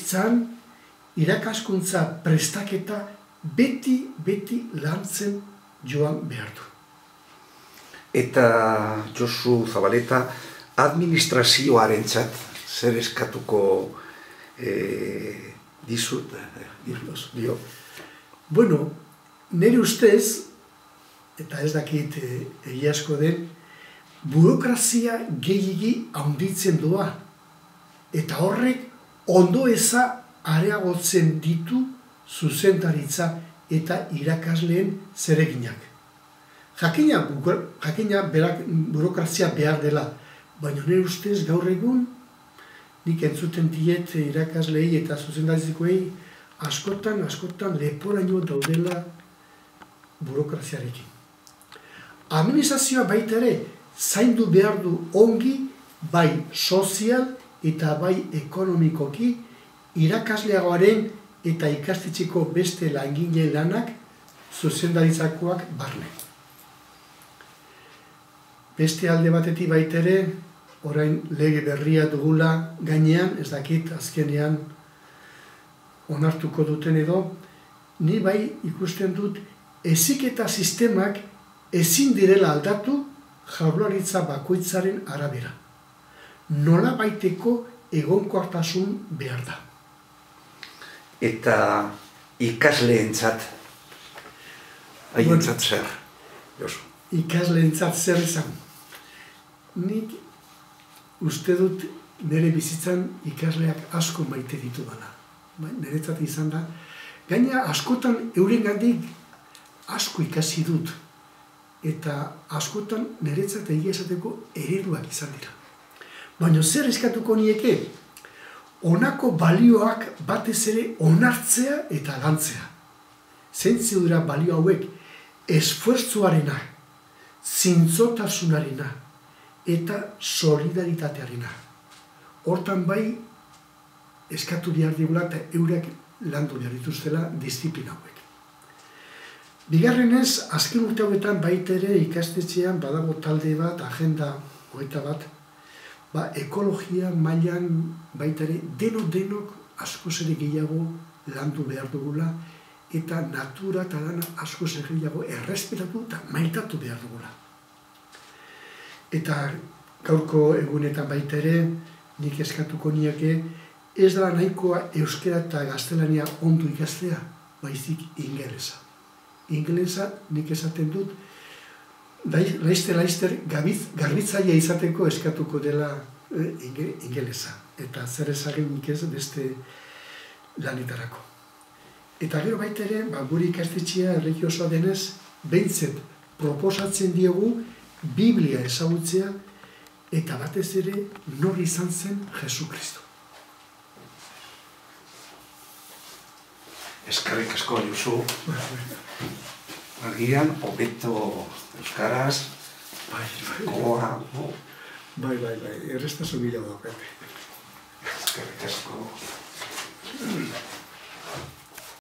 bizitzan irakaskuntza prestaketa beti lantzen joan behar du. Eta Josu Zabaleta, administrazioarentzat zer eskatuko dizut? Bueno, nire ustez, eta ez dakit egiazko den, burokrazia gehiegi handitzen doa. Eta horrek ondo eza areagotzen ditu zuzendaritza eta irakasleen zereginak. Jakina berak burokrazia behar dela, baina nire ustez gaur egun nik entzuten diet irakaslei eta zuzendaritzekoei askotan leporaino daudela burokraziarekin. Administrazioa baita ere zaindu behar du ongi bai sozial eta bai ekonomikoki irakasleagoaren eta ikastetxeko beste langile lanak zuzendaritzakoak barne. Beste alde batetik baita ere, orain lege berria dugula gainean, ez dakit azkenean onartuko duten edo, ni bai ikusten dut heziketa sistemak ezin direla aldatu jaurlaritza bakoitzaren arabera. Nola baiteko egonkortasun behar da. Eta ikasleentzat, haientzat zer, Josu? Ikasleentzat zer izan. Nik uste dut nire bizitzan ikasleak asko maite ditu dela. Niretzat izan da. Gaina askotan eurengandik asko ikasi dut. Eta askotan niretzat egia esateko ereduak izan dira. Baina zer eskatuko nieke? Honako balioak batez ere onartzea eta lantzea. Zeintzu dira balio hauek esfuertzuarena, zintzotasunarena eta solidaritatearena. Hortan bai eskatu behar digula eta eurek landu behar dituztela disiplina hauek. Bigarrenez, azken urte hauetan baita ere ikastetxean badago talde bat, agenda hogeita bat, ekologia mailan baita ere denok askoz ere gehiago landu behar dugula eta natura eta dana askoz ere gehiago errespetatu eta maitatu behar dugula. Eta gaurko egunetan baita ere nik eskatuko niake ez da nahikoa euskera eta gaztelania ondo ikastea, baizik ingelesa. Ingelesa nik esaten dut laizter garbitzailea izateko eskatuko dela ingelesa. Eta zer ezagen nik ez beste lanetarako. Eta gero baita ere, gure ikastetxea erregiosoa denez, behintzet proposatzen diogu Biblia ezagutzea eta batez ere nor izan zen Jesu Kristo. Eskerrik asko, Josu. Agian, hobeto euskaraz, gogoa. Bai, errestasun bila da, Pepe. Eskerrik asko.